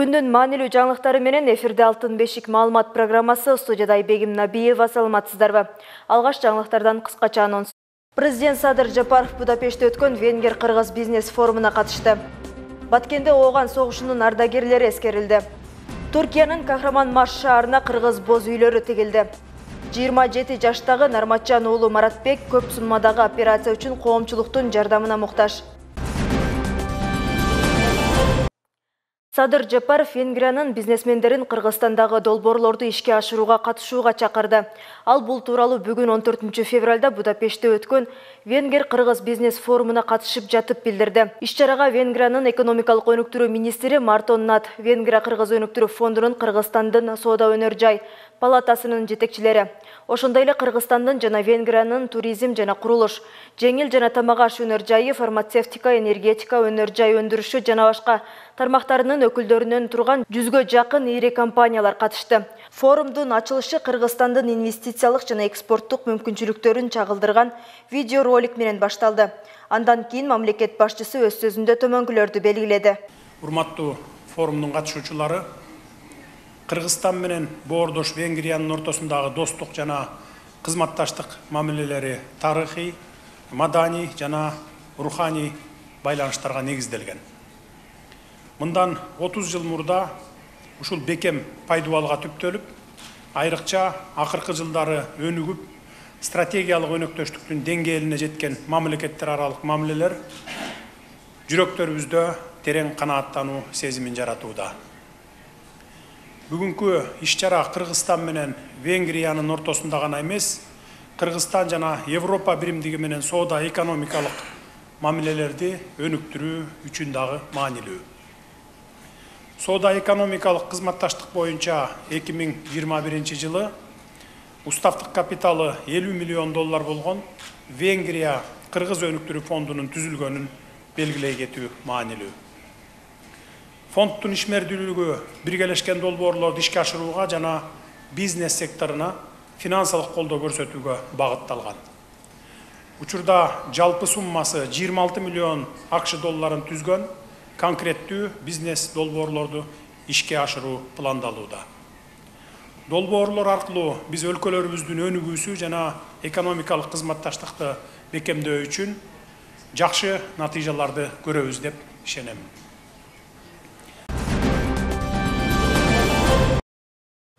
Күндүн маанилүү жаңылыктары менен эфирде Алтын бешик маалымат программасы, студияда Айбегим Набиева. Саламатсыздарбы? Алгаш жаңылыктардан кыскача анонс. Президент Садыр Жапаров Будапештте өткөн Венгер-Кыргыз бизнес форумуна катышты. Баткенде ооган согушунун ардагерлери эскерилди. Туркиянын Кахраманмаш шаарына кыргыз боз үйлөрү тигилди. 27 жаштагы Нарматжан уулу Маратбек көп суммадагы операция үчүн коомчулуктун жардамына муктаж. Садыр Жапаров Венгриянын бизнесмендерин Кыргызстандагы долбоорлорду ишке ашырууга катышууга чакырды. Ал бул тууралуу бүгүн 14 февралда Будапештте өткөн Венгер-Кыргыз бизнес форумуна катышып жатып билдирди. Иш-чарага Венгриянын экономикалык өнүктүрүү министри Мартон Нат, Венгрия-Кыргыз өнүктүрүү фондунун Кыргызстандын соода өнөр-жай палатасынын жетекчилери, ошондой эле Кыргызстандын жана Венгриянын туризм жана курулуш, жеңил жана тамак аш өнөр-жайы, фармацевтика, энергетика, өнөр-жай өндүрүшү жана башка тармактарынын өкүлдөрүнөн турган 100гө жакын ири компаниялар катышты. Форумдун ачылышы Кыргызстандын инвестициялык жана экспорттук мүмкүнчүлүктөрүн чагылдырган видеоролик менен башталды. Андан кийин мамлекет башчысы өз сөзүндө төмөнкүлөрдү белгиледи. Урматтуу форумдун катышуучулары, Кыргызстан менен боордош Венгриянын ортосундагы достук жана кызматташтык мамилелери тарыхый, маданий жана руханий байланыштарга негизделген. Мындан 30 жыл мурда ушул бекем пайдубалга түптөлүп, айрыкча акыркы жылдары өнүгүп, стратегиялык өнөктөштүктүн деңгээлине жеткен мамлекеттер аралык мамилелер жүрөктөрүбүздө терең канааттануу сезимин жаратууда. Бүгүнкү иш-чара Кыргызстан менен Венгриянын ортосунда гана эмес, Кыргызстан жана Европа биримдиги менен соода экономикалык мамилелерди өнүктүрүү үчүн дагы маанилүү. Соода экономикалык кызматташтык боюнча 2021 жылы уставдык капиталы 50 миллион доллар болгон Венгрия Кыргыз өнүктүрүү фондунун түзүлгөнүн белгилей кетүү маанилүү. Фонддун ишмердүүлүгү биргелешкен долбоорлорду ишке ашырууга жана бизнес секторуна финансылык колдоо көрсөтүүгө багытталган. Учурда жалпы суммасы 26 миллион АКШ долларын түзгөн конкреттүү бизнес долбоорлорду ишке ашыруу пландалууда. Долбоорлор аркылуу биз өлкөлөрүбүздүн өнүгүүсү жана экономикалык кызматташтыкты бекемдөө үчүн жакшы натыйжаларды көрөбүз деп ишенем.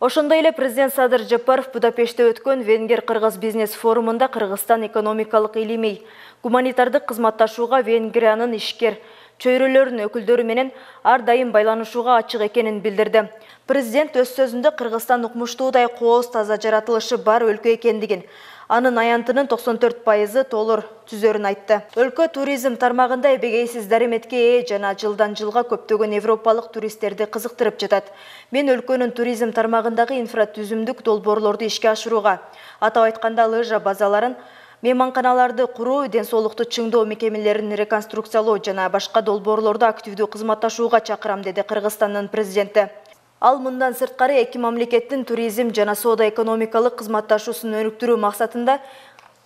Ошондой эле президент Садыр Жапаров Будапештте өткөн Венгер-Кыргыз бизнес форумунда Кыргызстан экономикалык илимий, гуманитардык кызматташууга Венгриянын ишкер чөйрөлөрүнүн өкүлдөрү менен ар дайым байланышууга ачык экенин билдирди. Президент өз сөзүндө Кыргызстан укмуштуудай кооз таза жаратылышы бар өлкө экендигин, анын аянтынын 94% толур түзөрүн айтты. Өлкө туризм тармагында эбегейсиз дареметке ээ жана жылдан жылга көптөгөн европалык туристтерди кызыктырып жатат. Мен өлкөнүн туризм тармагындагы инфратүзүмдүк долбоорлорду ишке ашырууга, атап айтканда лыжа базаларын, мейманканаларды куруу, ден соолукту чыңдоо мекемелерин реконструкциялоо жана башка долбоорлорду активдүү кызматташууга чакырам, деди Кыргызстандын президенти. Ал мындан сырткары эки мамлекеттин туризм жана соода экономикалык кызматташуусун өнүктүрүү максатында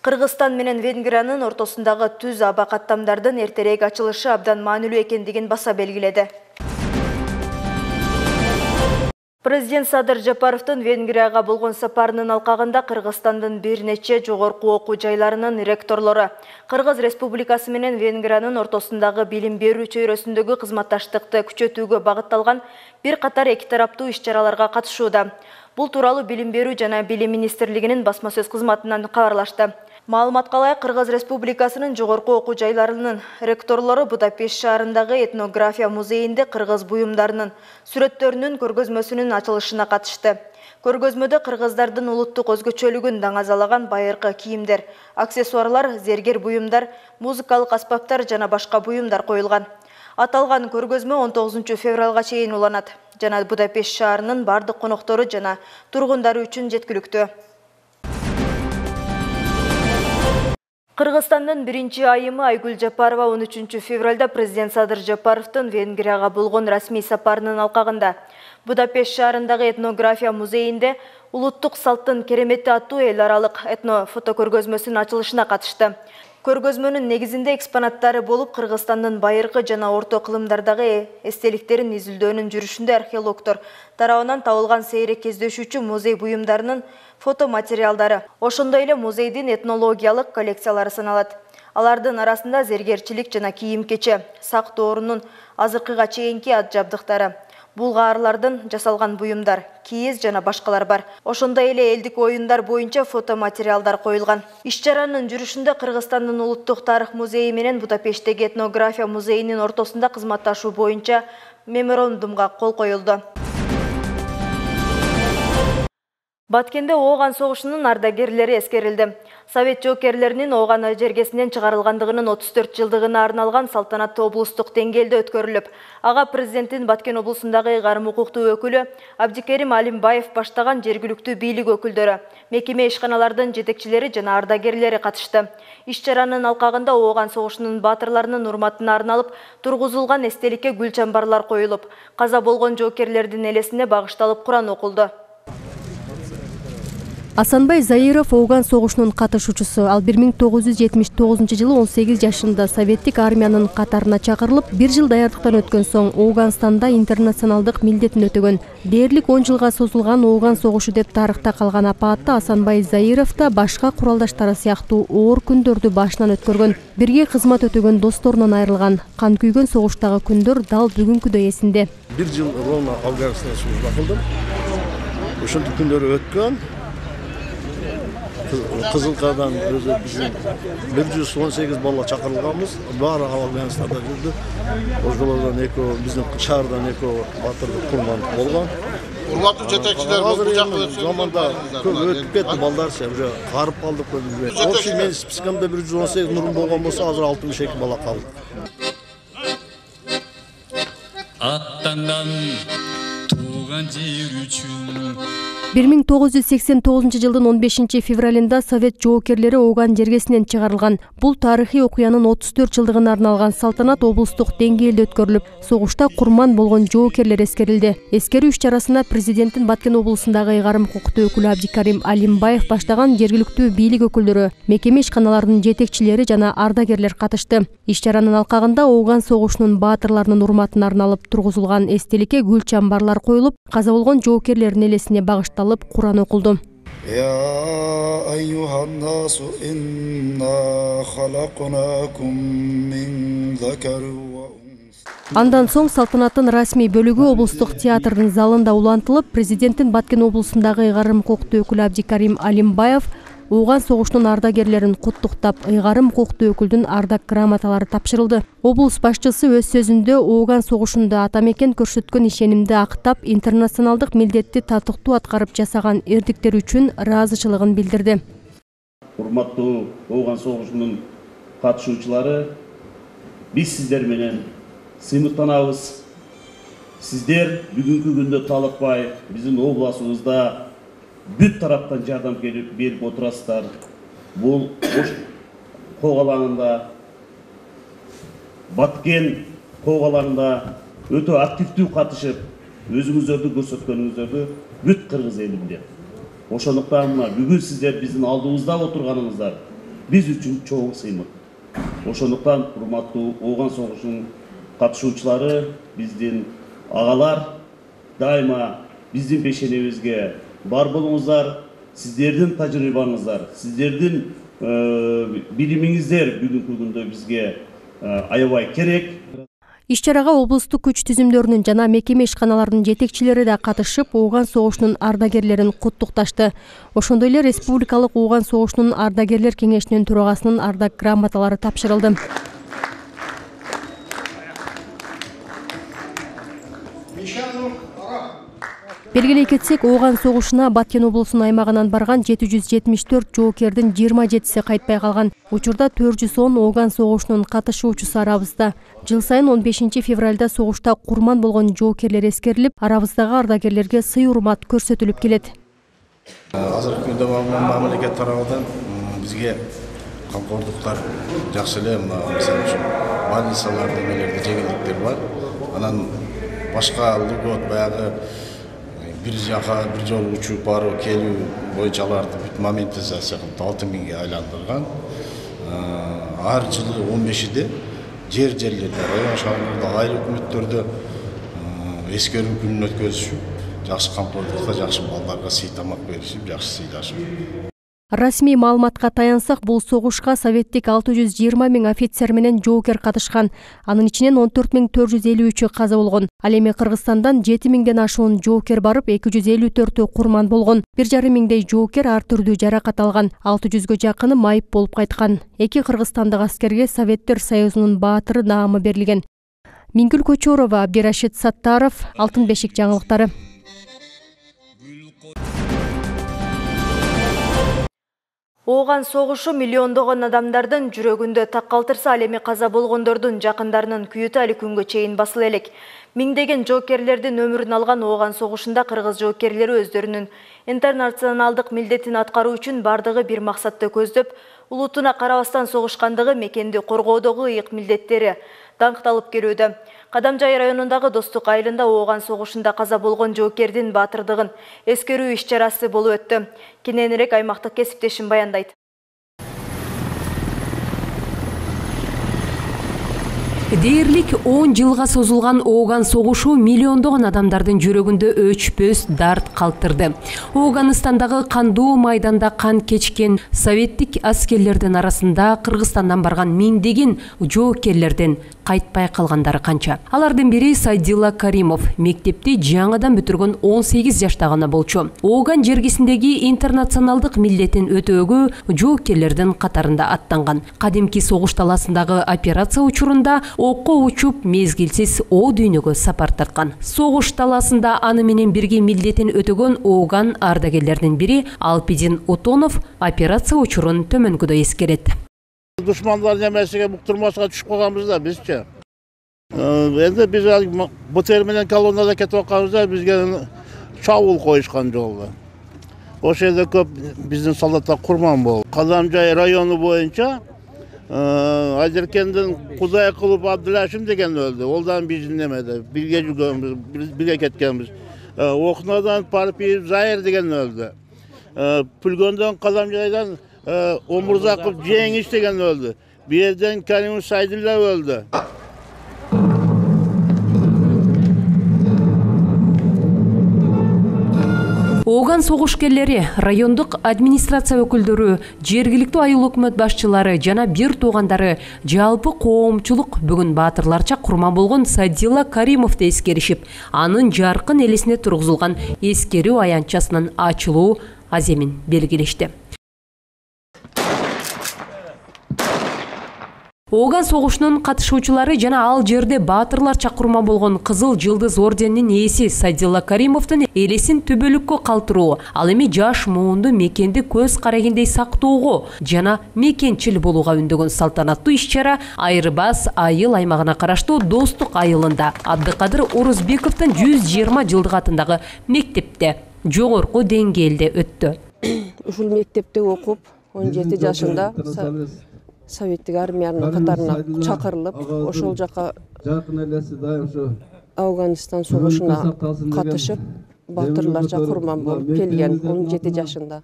Кыргызстан менен Венгриянын ортосундагы түз аба каттамдардын эртерээк ачылышы абдан маанилүү экендигин баса белгиледи. Президент Садыр Жапаровдун Венгрияга болгон сапарынын алкагында Кыргызстандын бир нече жогорку окуу жайларынын ректорлору Кыргыз Республикасы менен Венгриянын ортосундагы билим берүү чөйрөсүндөгү кызматташтыкты күчөтүүгө багытталган бир катар эки тараптуу иш-чараларга катышууда. Бул тууралуу Билим берүү жана Билим министрлигинин басма сөз кызматынан кабарлашты. Маалыматка ылайык, Кыргыз Республикасынын жогорку окуу жайларынын ректорлору Будапешт шаарындагы этнография музейинде кыргыз буюмдарынын сүрөттөрүнүн көргөзмөсүнүн ачылышына катышты. Көргөзмөдө кыргыздардын улуттук өзгөчөлүгүн даңазалаган байыркы кийимдер, аксессуарлар, зергер буюмдар, музыкалык аспаптар жана башка буюмдар коюлган. Аталган көргөзмө 19 февралга чейин уланат жана Будапешт шаарынын бардык коноктору жана тургундары үчүн жеткиликтүү. Кыргызстандын биринчи айымы Айгүл Жапарова 13 февралда президент Садыр Жапаровдун Венгрияга болгон расмий сапарынын алкагында Будапешт шаарындагы этнография музейинде улуттук салттын керемети аттуу эл аралык этно фотокөргөзмөсүнүн ачылышына катышты. Көргөзмөнүн негизинде экспонаттары болуп Кыргызстандын байыркы жана орто кылымдардагы эстеликтерин изилдөөнүн жүрүшүндө археологдор тарабынан табылган сейрек кездешүүчү музей буюмдарынын фотоматериалдары, ошондой эле музейдин этнологиялык коллекциялары саналат. Алардын арасында зергерчилик жана кийим-кече, сак доорунун азыркыга чейинки ат жабдыктары, булгаарлардан жасалган буюмдар, кийиз жана башкалар бар. Ошондой эле элдик оюндар боюнча фотоматериалдар коюлган. Иш-чаранын жүрүшүндө Кыргызстандын улуттук тарых музейи менен Будапешттеги этнография музейинин ортосунда кызматташуу боюнча меморандумга кол коюлду. Баткенде Ооган согушунун ардагерлери эскерилди. Совет жоокерлеринин Ооган жергесинен чыгарылгандыгынын 34 жылдыгына арналган салтанаттуу облустук деңгээлде өткөрүлүп, ага президенттин Баткен облусундагы ыйгарым укуктуу өкүлү Абдикерим Алимбаев баштаган жергиликтүү бийлик өкүлдөрү, мекеме ишканалардын жетекчилери жана ардагерлери катышты. Иш-чаранын алкагында Ооган согушунун баатырларынын урматына арналып тургузулган эстеликке гүл чамбарлар коюлуп, каза болгон жоокерлердин элесине багышталып Куран окулду. Асанбай Заиров Ооган согушунун катышуучусу. Ал 1979-жылы 18 жашында советтик армиянын катарына чакырылып, 1 жыл даярдыктан өткөн соң Ооганстанда интернационалдык милдетин өтөгөн. Дээрлик 10 жылга созулган Ооган согушу деп тарыхта калган апаатта Асанбай Заиров да башка куралдаштары сыяктуу оор күндөрдү башынан өткөргөн. Бирге кызмат өтөгөн досторунан айрылган. Кан күйгөн согуштагы күндөр дал бүгүнкүдөй эсинде. 1 жыл ровно Афганистанда служба кылдым. Ошол күндөр өткөн. Кызылкадан өзү биздин 118 бала чакырылганбыз. Баары Афганистанда жүрдү. Ошолордон экөө биздин шаардан экөө батырды курман болгон. Урматтуу жетекчилер бул жакка заманда көп өтүп кетти балдарча, уже карып калдык көбү. Общий мен спискамда 118 нурум болгон болсо, азыр 62 бала калды. Аттандан тууган жер үчүн 1989 жылдын 15 февралында Совет жоокерлери Ооган жергесинен чыгарылган. Бул тарыхый окуянын 34 жылдыгына арналган салтанат облустук деңгээлде өткөрүлүп, согушта курман болгон жоокерлер эскерилди. Эскерүү иш-чарасына президенттин Баткен облусундагы ыйгарым укуктуу өкүлү Абдикерим Алимбаев баштаган жергиликтүү бийлик өкүлдөрү, мекеме ишканаларынын жетекчилери жана ардагерлер катышты. Иш-чаранын алкагында Ооган согушунун баатырларынын урматына арналып тургузулган эстеликке гүл чамбарлар коюлуп, каза болгон жоокерлердин элесине багышталып Куран окулду. يا أيها الناس إنا خلقناكم من ذكر وأنثى. Андан соң салтанаттын расмий бөлүгү облустук театрдын залында улантылып, президенттин Баткен облусундагы ыйгарым укуктуу өкүлү Абдикерим Алимбаев Ооган согушунун ардагерлерин куттуктап, ыйгарым укуктуу өкүлдүн ардак грамоталары тапшырылды. Облус башчысы өз сөзүндө Ооган согушунда ата мекен көрсөткөн ишенимди актап, интернационалдык милдетти татыктуу аткарып жасаган эрдиктери үчүн ыраазычылыгын билдирди. Урматтуу Ооган согушунун катышуучулары, биз сиздер менен сыймыктанабыз. Сиздер бүгүнкү күндө талыкпай биздин областыбызда бүт тараптан жардам берип отурасыздар. Бул когалаңында, Баткен когалаңында өтө активдүү катышып, өзүңүздөрдү көрсөткөнүңүздөрдү бүт кыргыз эли билет. Ошондуктан бүгүн сиздер биздин алдыбызда отурганыңыздар биз үчүн чоң сыймык. Ошондуктан урматтуу Ооган согушунун катышуучулары, биздин агалар дайыма биздин пешенебизге бар болуңуздар, сиздердин тажрыйбаңыздар, сиздердин билимиңиздер бүгүнкү күндө бизге аябай керек. Иш-чарага облустук күч түзүмдөрүнүн жана мекеме ишканаларынын жетекчилери да катышып, Ооган согушунун ардагерлерин куттукташты. Ошондой эле республикалык Ооган согушунун ардагерлер кеңешинин төрагасынын ардак грамоталары тапшырылды. Белгилей кетсек, Ооган согушуна Баткен облусунун аймагынан барган 774 жоокердин 27си кайтпай калган. Учурда 410 Ооган согушунун катышуучусу арабызда. Жыл сайын 15 февралда согушта курман болгон жоокерлер эскерилип, арабыздагы ардагерлерге сый-урмат көрсөтүлүп келет. Азыркы күндө мамлекет тарабынан бизге камкордуктар жакшы эле, мисалы үчүн больницаларда эмелерде жеңилдиктер бар. Анан башка льгот баягы бир жака бир жолу учуп баруу келүү боюнча аларды бүт моментизация кылып 6000ге айландырган. ар жылы 15-де жерлерде, район шаһарларда, айыл өкмөттөрдө эскерүү күнүн өткөзүшүп, жакшы камтылыкка, жакшы балдарга сый тамак беришип, жакшы сыйлашып. Расмий маалыматка таянсак, бул согушка советтик 620 000 офицер менен жоокер катышкан. Анын ичинен 14 453 каза болгон. Ал эми Кыргызстандан 7 000ден ашуун жоокер барып, 254 курман болгон. 1,5 миңдей жоокер ар түрдүү жаракат алган. 600гө жакыны майып болуп кайткан. 2 кыргызстандык аскерге Советтер Союзунун баатыры наамы берилген. Мингүл Көчөрова, Абдирашид Саттаров, Алтын бешик жаңылыктары. Ооган согушу миллиондогон адамдардын жүрөгүндө так калтырса, ал эми каза болгондордун жакындарынын күйүтү али күнгө чейин басыла элек. Миңдеген жоокерлердин өмүрүн алган Ооган согушунда кыргыз жоокерлери өздөрүнүн интернационалдык милдетин аткаруу үчүн бардыгы бир максатты көздөп, улутуна карабастан согушкандыгы мекенди коргоодогу ыйык милдеттери даңкталып келүүдө. Кадамжай районундагы Достук айылында Ооган согушунда каза болгон жоокердин баатырдыгын эскерүү иш-чарасы болуп өттү. Кененирээк аймактык кесиптешим баяндайт. Дээрлик 10 жылга созулган Ооган согушу миллиондогон адамдардын жүрөгүндө өчпөс дарт калтырды. Ооганстандагы кандуу майданда кан кечкен советтик аскерлердин арасында Кыргызстандан барган миңдеген жоокерлерден кайтпай калгандары канча. Алардын бири Сайдилла Каримов, мектепти жаңыдан бүтүргөн 18 жаштагы болчу. Ооган жергесиндеги интернационалдык милдетин өтөөгө жоокерлердин катарында аттанган. Кадимки согуш таласындагы операция учурунда окко учуп мезгилсиз о дүйнөгө сапар тарткан. Согуш таласында аны менен бирге милдетин өтөгөн Ооган ардагерлердин бири Алпидин Утонов операция учурун төмөнгөдөй эскерет. Душмандар немесиге буктурмаска түшүп калганбыз да бизче. Энди биз БТР менен колоннада кетип атканбызда бизге чабуул коюшкан жолдо. Ошол жерде көп биздин солдаттар курман болду. Кадамжай району боюнча Айдеркендин Кудай кылып Абдылашим деген өлдү. Олдан биздин немеде бирге жүргөнбүз, бирге кеткенбиз. Окунадан Парпиев Зайыр деген өлдү. Пүлгөндөн Кадамжайдан Омурзаков Жеңиш деген өлдү. Бу жерден Карим Сайдилла өлдү. Ооган согушкерлери, райондук администрация өкүлдөрү, жергиликтүү айыл өкмөт башчылары жана бир туугандары жалпы коомчулук бүгүн баатырларча курман болгон Сайдилла Каримовду эскеришип, анын жаркын элесине тургузулган эскерүү аянтчасынын ачылуу аземин белгилешти. Ооган согушунун катышуучулары жана ал жерде баатырларча курман болгон Кызыл Жылдыз орденинин ээси Сайдилла Каримовдун элесин түбөлүккө калтыруу, ал эми жаш муунду мекенди көз карегиндей сактоого жана мекенчил болууга үндөгөн салтанаттуу иш-чара Айырбас айыл аймагына караштуу Достук айылында Абдыкадыр Орузбековдун 120 жылдык атындагы мектепте жогорку деңгээлде өттү. Ушул мектепте окуп 17 жашында Советтик армиянын катарына чакырылып, ошол жака Афганистан согушуна катышып, баатырларча курман болуп келген 17 жашында.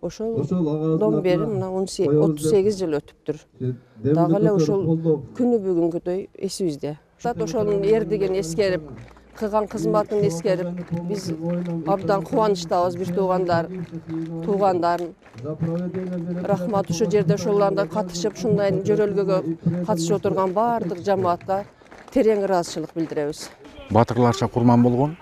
Ошолдон бери мына 38 жыл өтүптүр. Дагы эле ошол күнү бүгүнгүдөй эсибизде. Ошонун эрдигин эскерип, кылган кызматын эскерип, биз абдан кубанычтабыз бир туугандарын. Рахмат, ушул жерде ошолордо катышып, ушундай жөрөлгөгө катышып отурган баардык жамаатка терең ыраазычылык билдиребиз. Баатырларча курман болгон.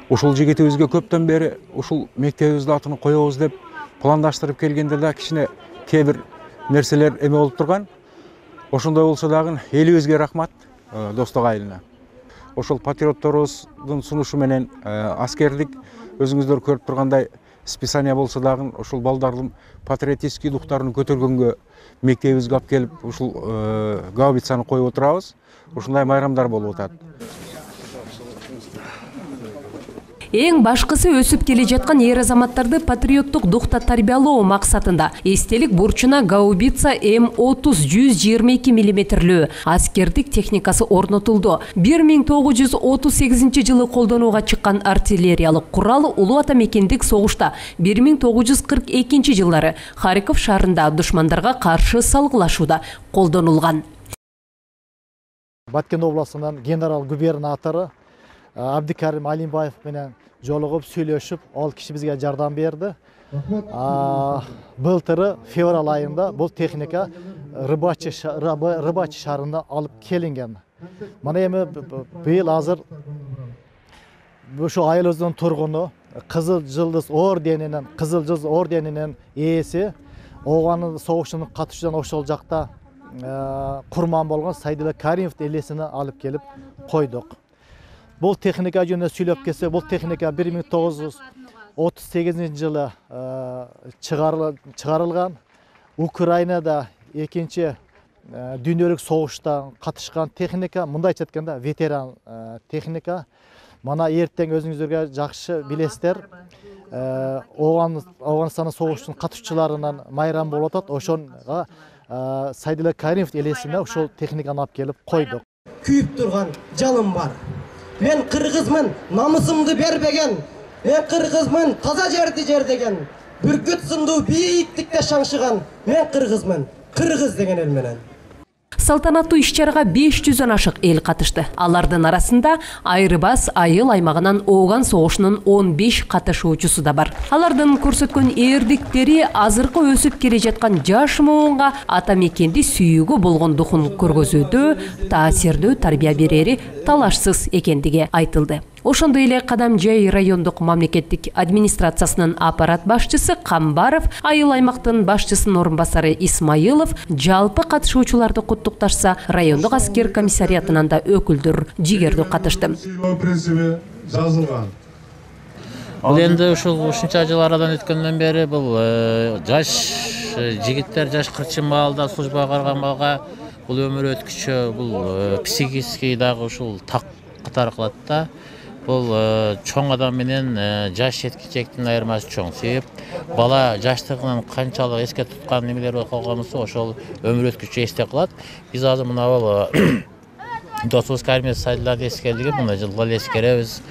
Ушул жигитибизге көптөн бери ушул мектебибиздин атын коебуз деп пландаштырып келгенде да кичине кээ бир нерселер эме болуп турган. Ошондой болсо дагы элибизге рахмат, Достук айылына. Ошол патриотторубуздун сунушу менен аскерлик өзүңүздөр көрүп тургандай списание болсо дагы ошол балдардын патриотический духтарын көтөргөнгө мектебибизге алып келип ушул гаубицаны коюп отурабыз. Ушундай майрамдар болуп атат. Эң башкысы өсүп келе жаткан эр азаматтарды патриоттук духта тарбиялоо максатында эстелик бурчуна гаубица М30 122 мм аскердик техникасы орнотулду. 1938 жылы колдонууга чыккан артиллериялык курал Улуу Ата мекендик согушта 1942 жылдары Харьков шаарында душмандарга каршы салгылашууда колдонулган. Баткен областынан генерал-губернатору Абдикарим Алимбаев менен жолугуп сүйлөшүп, ал киши бизге жардам берди. Былтыры февраль айында бул техника рыбачы шаарына алып келинген. Мына эми быйыл азыр ушу айылыбыздын тургуну Кызыл Жылдыз орденинин ээси Ооган согушунун катышуучудан ошол жакта курман болгон Сайдулла Каримов элесине алып келип койдук. Бул техника жөнүндө сүйлөп келсек, бул техника 1938 жылы чыгарылган. Украинада экинчи дүйнөлүк согушта катышкан техника, мындайча айтканда ветеран техника. Мана эртең өзүңүздөр жакшы билесиздер, Ауганстандын согуштун катышчыларынан майрам болуп атат. Ошонго Сайдулла Каримов элесине ошол техниканы алып келип койдук. Күйүп турган жалым бар. Мен кыргызмын, намысымды бербеген. Мен кыргызмын, таза жерди жердеген. Бүркүт сындуу бийиктикте шаңшыган. Мен кыргызмын, кыргыз деген эл менен. Салтанаттуу иш-чарага 500дөн ашык эл катышты. Алардын арасында Айрыбас айыл аймагынан Ооган согушунун 15 катышуучусу да бар. Алардын көрсөткөн эрдиктери азыркы өсүп келе жаткан жаш муунга ата мекенди сүйүүгө болгон духун көргөзүүдө таасирдүү тарбия берери талашсыз экендиги айтылды. Ошондой эле Кадамжай райондук мамлекеттик администрациясынын аппарат башчысы Камбаров, айыл аймактын башчысынын орун басары Исмаилов жалпы катышуучуларды куттукташса, райондук аскер комиссариатынан да өкүлдөр жигердүү катышты. Бул энди ушунча жыл арадан өткөндөн бери бул жаш жигиттер, жаш кырчын маалда службага барган бул өмүр өткүчү, бул психический дагы ушул так катар кылат да. Бул чоң адам менен жаш жеткичектин айырмасы чоң. Себеп бала жаштыгынан канчалык эске туткан немелер болгонусу ошол өмүр өткүчү эсте калат. Биз азыр мына бул досубуз Каримов Сайдулланы эскердиги мына жылга эле эскеребиз.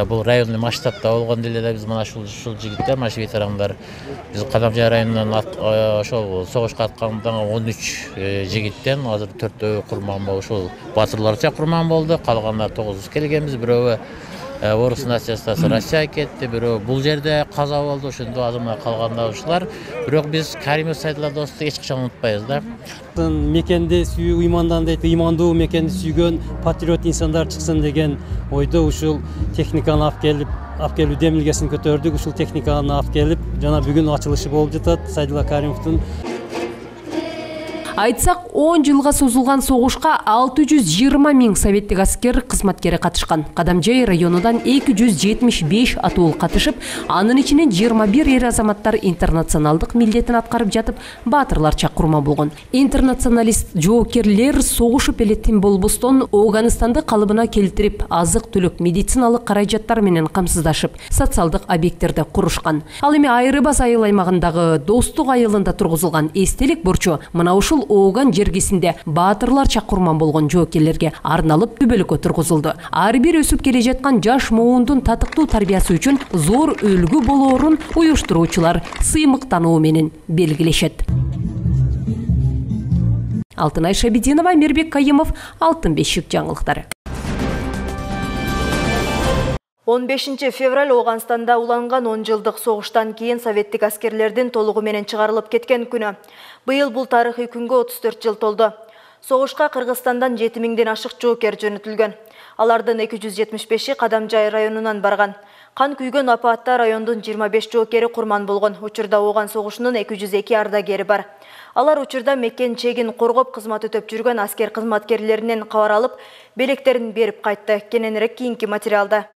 Бул райондук масштабта болгон деле да биз мына ушул жигиттер, маш ветерандар биз Кадамжай районунан ошол согушка аткандан 13 жигиттен азыр 4 курман болуп ушул батырларча курман болду. Калгандар 9 келгенбиз. Бирөө Орус нациясы Россия кетти, бирөө бул жерде каза болду. Ошондо азыр мына калганда ушулар. Бирок биз Каримов Сайдулла досту эч качан унутпайбыз да. Мекенди сүйүү ыймандан дейт, ыймандуу мекенди сүйгөн патриот инсандар чыксын деген ойдо ушул техниканы алып келүү демилгесин көтөрдүк. Ушул техниканы алып келип, жана бүгүн ачылышы болуп жатат Сайдулла Каримовдун. Айтсак, 10 жылга созулган согушка 620 000 советтик аскер кызматкери катышкан. Кадамжай районунан 275 атуул катышып, анын ичинен 21 эр азаматтар интернационалдык милдетин аткарып жатып, баатырларча курман болгон. Интернационалист жоокерлер согушуп эле тим болбостон Ооганстанды калыбына келтирип, азык-түлүк, медициналык каражаттар менен камсыздашып, социалдык объекттерди курушкан. Ал эми Айрыбас айыл аймагындагы Достук айылында тургузулган эстелик бурчу мына ушул Ооган жергесинде баатырларча курман болгон жоокерлерге арналып түбөлүккө тургузулду. Ар бир өсүп келе жаткан жаш муундун татыктуу тарбиясы үчүн зор үлгү болоорун уюштуруучулар сыймыктануу менен белгилешет. Алтынай Шабидинова, Мирбек Кайымов, Алтын бешик жаңылыктары. 15 февраль Ооганстанда уланган 10 жылдык согуштан кийин советтик аскерлердин толугу менен чыгарылып кеткен күнү. Быйыл бул тарыхый күнгө 34 жыл толду. Согушка Кыргызстандан 7000ден ашык жоокер жөнөтүлгөн. Алардын 275и Кадамжай районунан барган. Кан күйгөн апаатта райондун 25 жоокери курман болгон. Учурда Ооган согушунун 202 ардагери бар. Алар учурда мекен чегин коргоп кызмат өтөп жүргөн аскер кызматкерлеринен кабар алып, белектерин берип кайтты. Кененирээк кийинки материалда.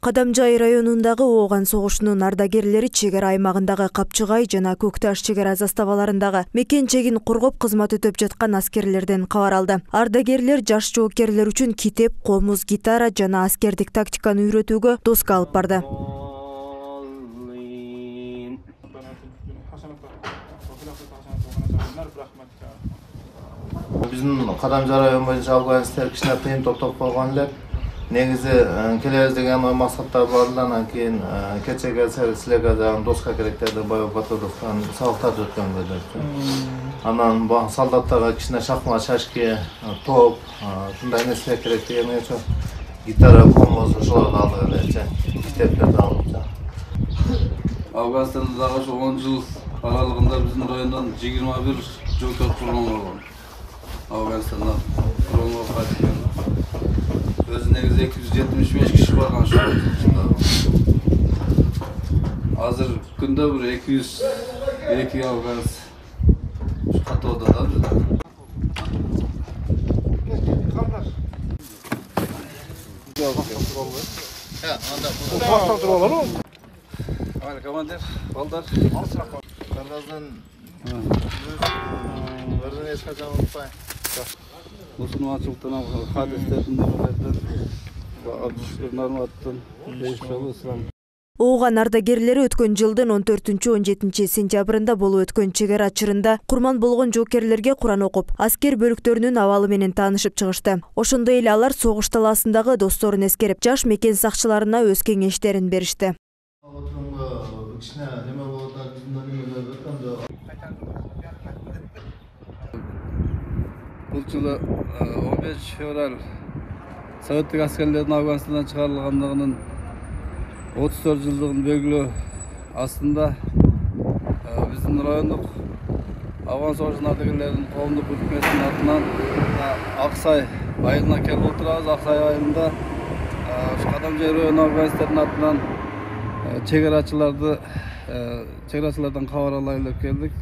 Кадамжай районундагы Ооган согушунун ардагерлери чек ара аймагындагы Капчыгай жана Көкташ чек ара заставаларындагы мекен-чегин коргоп кызмат өтөп жаткан аскерлерден кабар алды. Ардагерлер жаш жоокерлер үчүн китеп, комуз, гитара жана аскердик тактиканы үйрөтүүгө доска алып барды. Биздин Кадамжай району боюнча албанецтер кичине кыйын топтоп койгон элек. Негизи келебиз деген ой максаттар бар эле, анан кийин кечеге силерге дагы доска керек деди Бай Батыровдон сабактарды өткөнгө. Анан солдаттарга кичине шахмат, шашки, топ, ушундай нерселер керек деген үчүн гитара, комуз ошолорду алдык эле, китептерди алдык. Афганстанда дагы ошо 10 жыл аралыгында биздин райондон 21 жоокер курман болгон. Афганстандан курманга кайтып өзү негизи 275 киши барган ошол жылда. Азыр күндө бир 202 афганец катоодо да бизде. Командир, балдар. Кардаздан бирден эч качан унутпайм. Мусулманчылыктан, хадистерден, норматтан, ислам. Ооган ардагерлери өткөн жылдын 14-17 сентябрында болуп өткөн чек ара чырында курман болгон жоокерлерге Куран окуп, аскер бөлүктөрүнүн абалы менен таанышып чыгышты. Ошондой эле алар согуш талаасындагы досторун эскерип, жаш мекен сакчыларына өз кеңештерин беришти. Бул жылы 15 февраль советтик аскерлердин Афганистандан чыгарылгандыгынын 34 жылдыгын белгилөө астында биздин райондук Афган согушунун ардагерлеринин коомдук өкмөтүнүн атынан Аксай айылына келип отурабыз. Аксай айылында Кадамжай району Афганистердин атынан чек арачылардан кабар алайлы деп келдик.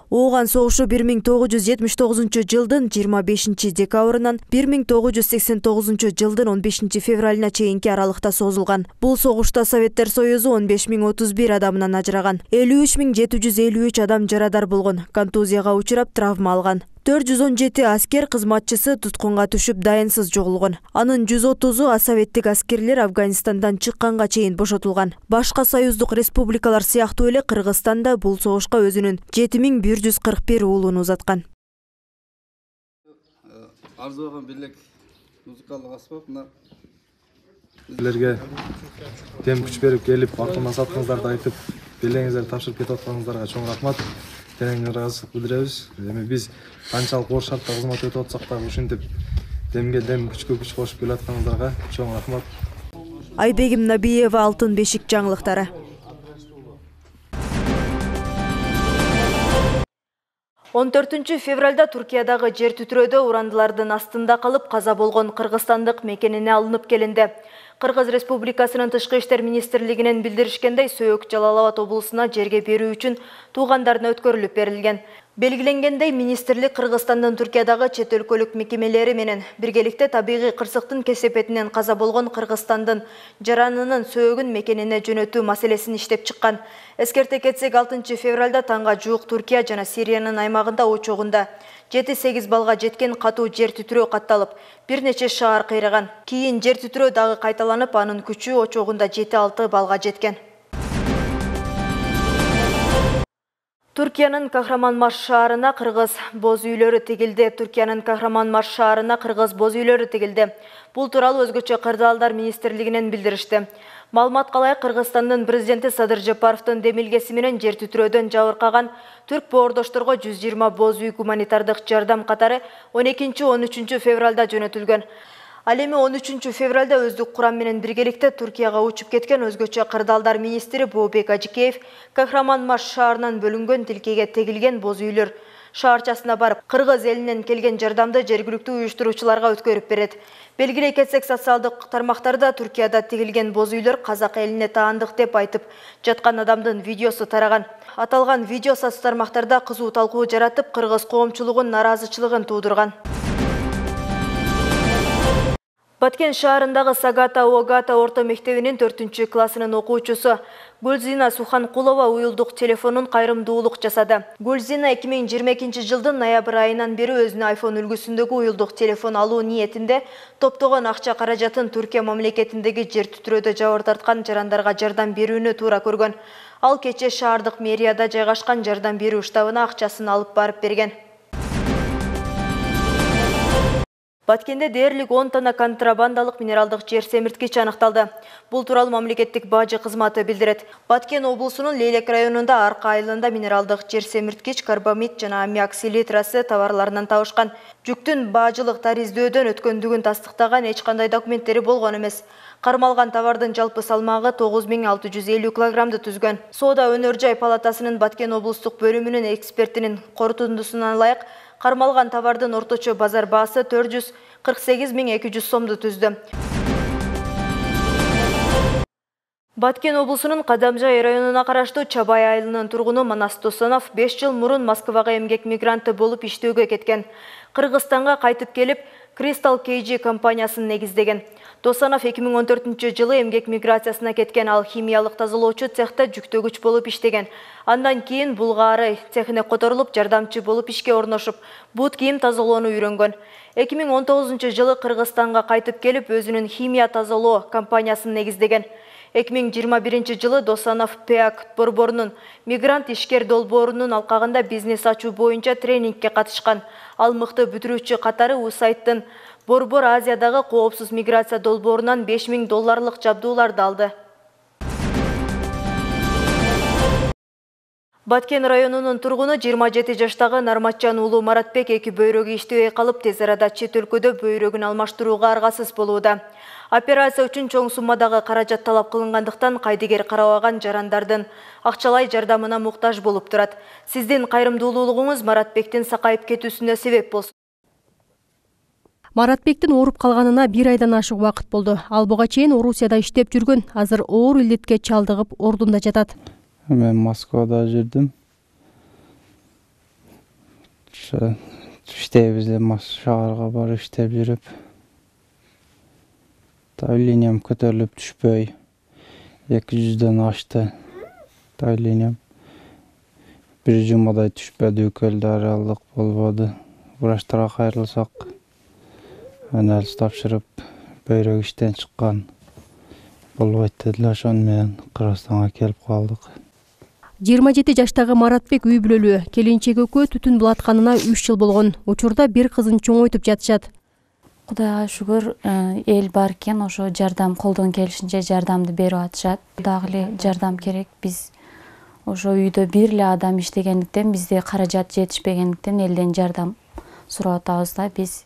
Ооган согушу 1979 жылдын 25 декабрынан 1989 жылдын 15 февралына чейинки аралыкта созулган. Бул согушта Советтер Союзу 15.031 адамынан ажыраган. 53.753 адам жарадар болгон, контузияга учурап травма алган. 417 аскер кызматчысы туткунга түшүп дайынсыз жоголгон. Анын 130-у асоветтик аскерлер Афганистандан чыкканга чейин бошотулган. Башка союздук республикалар сыяктуу эле Кыргызстан да бул согушка өзүнүн 7141 уулун узаткан. Арзуган бирлик музыкалдык аспап мына силерге тем күч берип келип, артынан саткыңыздарды айтып, белеңиздерди тапшырып кетип атканыңыздарга чоң рахмат. Тереңден ыраазычылык билдиребиз. Эми биз канчалык оор шартта кызмат өтүп атсак дагы ушинтип демге дем, күчкө күч кошуп келе атканыңыздарга чоң рахмат. Айбегим Набиева, Алтын бешик жаңылыктары. 14 февралда Туркиядагы жер түтүрөөдө урандылардын астында калып каза болгон кыргызстандык мекенине алынып келинди. Кыргыз Республикасынын Тышкы иштер министрлигинен билдиришкендей, Сөөк Жалал-Абад облусуна жерге берүү үчүн туугандарына өткөрүлүп берилген. Белгиленгендей, министрлик Кыргызстандын Туркиядагы чет өлкөлүк мекемелери менен биргеликте табигый кырсыктын кесепетинен каза болгон Кыргызстандын жаранынын сөөгүн мекенине жөнөтүү маселесин иштеп чыккан. Эскерте кетсек, 6 февралда таңга жуук Туркия жана Сириянын аймагында учогунда 7-8 балга жеткен катуу жер түтүрөө катталып, бир нече шаар кыйраган. Кийин жер түтүрөө дагы кайталанып, анын күчү очогунда 7-6 балга жеткен. Туркиянын Кахраманмаш шаарына кыргыз боз үйлөрү тигилди. Туркиянын Кахраманмаш шаарына кыргыз боз үйлөрү тигилди. Бул тууралуу өзгөчө кырдаалдар министрлигинен билдиришти. Маалымат калай, Кыргызстандын президенти Садыр Жапаровдун демилгеси менен жер түтүрөөдөн жабыркаган түрк боордошторго 120 боз үй гуманитардык жардам катары 12-13 февралда жөнөтүлгөн. Ал эми 13 февралда өздүк курам менен биргеликте Туркияга учуп кеткен өзгөчө кырдаалдар министри Бообек Ажикеев Кахраманмаш шаарынан бөлүнгөн тилкеге тегилген боз үйлөр шаарчасына барып, кыргыз элинен келген жардамды жергиликтүү уюштуруучуларга өткөрүп берет. Белгилей кетсек, социалдык тармактарда Туркияда тигилген боз үйлөр казак элине таандык деп айтып жаткан адамдын видеосу тараган. Аталган видео соц тармактарда кызуу талкуу жаратып, кыргыз коомчулугунун нараазычылыгын туудурган. Баткен шаарындагы Сагата-Огата орто мектебинин 4-классынын окуучусу Гүлзина Суханкулова уюлдук телефонун кайрымдуулук жасады. Гүлзина 2022 жылдын ноябрь айынан бери өзүнүн iPhone үлгүсүндөгү уюлдук телефон алуу ниетинде топтогон акча каражатын Түркия мамлекетиндеги жер түтүрөөдө жабыр тарткан жарандарга жардам берүүнү туура көргөн. Ал кече шаардык мэрияда жайгашкан жардам берүү штабына акчасын алып барып берген. Баткенде дээрлик 10 тонна контрабандалык минералдык жер семирткич аныкталды. Бул тууралуу мамлекеттик бажы кызматы билдирет. Баткен облусунун Лейлек районунда Арка айылында минералдык жер семирткич, карбамид жана аммиак селитрасы товарларынан табышкан. Жүктүн бажылык тариздөөдөн өткөндүгүн тастыктаган эч кандай документтери болгон эмес. Кармалган товардын жалпы салмагы 9650 килограммды түзгөн. Соода өнөр жай палатасынын Баткен облустук бөлүмүнүн экспертинин корутундусуна ылайык кармалган товардын орточо базар баасы 448.200 сомду түздү. Баткен облусунун Кадамжай районуна караштуу Чабай айылынын тургуну Манас Досонов 5 жыл мурун Москвага эмгек мигранты болуп иштөөгө кеткен. Кыргызстанга кайтып келип, Crystal KG компаниясын негиздеген. Досонов 2014 жылы эмгек миграциясына кеткен, ал химиялык тазалоочу цехта жүктөгүч болуп иштеген. Андан кийин Булгаары цехине которулуп, жардамчы болуп ишке орношуп, бут кийим тазалоону үйрөнгөн. 2019 жылы Кыргызстанга кайтып келип, өзүнүн химия тазалоо компаниясын негиздеген. 2021 жылы Досонов ПЭАК борборунун мигрант ишкер долбоорунун алкагында бизнес ачуу боюнча тренингке катышкан. Ал мыкты бүтүрүүчү катары USAID-тын Борбор Азиядагы коопсуз миграция долбоорунан $5000 жабдууларды алды. Баткен районунун тургуну 27 жаштагы Нарматжан уулу Маратбек эки бөйрөгү иштебей калып, тез арада чет өлкөдө бөйрөгүн алмаштырууга аргасыз болууда. Операция үчүн чоң суммадагы каражат талап кылынгандыктан кайдыгер карабаган жарандардын акчалай жардамына муктаж болуп турат. Сиздин кайрымдуулугуңуз Маратбектин сакайып кетүүсүнө себеп болсун. Маратбектин ооруп калганына 1 айдан ашык убакыт болду. Ал буга чейин Орусияда иштеп жүргөн, азыр оор илдетке чалдыгып ордунда жатат. Мен Москвада жүрдүм. Иштейбиз эле, шаарга барып иштеп жүрүп. Давлением көтөрүлүп түшпөй. 200дөн ашты. Давлением. Bir жумадай түшпөдү, көлдаралык болбоду. Врачтарга кайрылсак, анализ тапшырып, бөйрөк иштен чыккан. Болбойт дедилер, ошон менен Кыргызстанга келип калдык. 27 жаштагы Маратбек үй бүлөлүү. Келинчек экөө түтүн булатканына 3 жыл болгон. Учурда бир кызын чоңойтуп жатышат. Кудайга шүгүр, эл бар экен, ошо жардам колдон келишинче жардамды берип атышат. Дагы эле жардам керек. Биз ошо үйдө бир эле адам иштегендиктен, бизде каражат жетишпегендиктен элден жардам сурап атабыз да биз.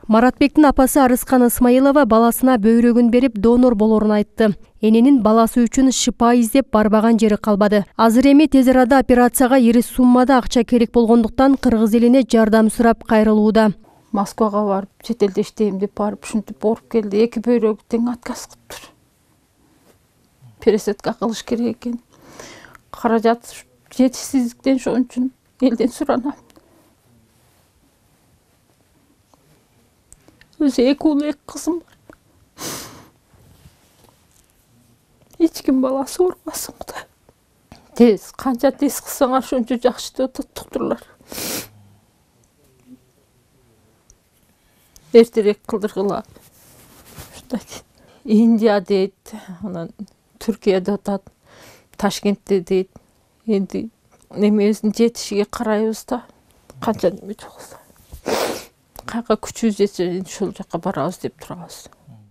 Маратбектин апасы Арыскан Исмаилова баласына бөйрөгүн берип донор болорун айтты. Эненин баласы үчүн шипа издеп барбаган жери калбады. Азыр эми тез арада операцияга ири суммада акча керек болгондуктан кыргыз элине жардам сурап кайрылууда. Москвага барып, чет элде иштейм деп барып, ушинтип ооруп келди. Эки бөйрөгү тең отказ кылыптыр. Пересадка кылыш керек экен. Каражат жетишсиздиктен ошон үчүн элден суранам. Өзү эки уул, эки кызым бар. Эч ким баласы оорубасын Кудай. Тез, канча тез кылсаңар ошончо жакшы деп атат доктурлар. Эртерээк кылдыргыла. Индия дейт, анан Түркияда атат, Ташкентте дейт. Энди немебиздин жетишиге карайбыз да, канча неме жокса. Кайга күчүбүз жетсе, ошол жака барабыз деп турабыз.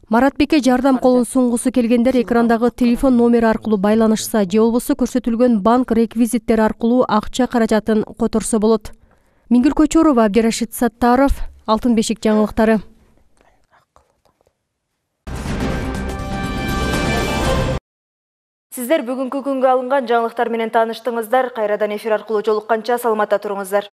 Маратбекке жардам колун сунгусу келгендер экрандагы телефон номери аркылуу байланышса, же болбосо көрсөтүлгөн банк реквизиттери аркылуу акча каражатын которсо болот. Миңгүл Көчөрова, Абдирашид Саттаров, Алтын бешик жаңылыктары. Сиздер бүгүнкү күнгө алынган жаңылыктар менен тааныштыңыздар. Кайрадан эфир аркылуу жолукканча саламатта туруңуздар.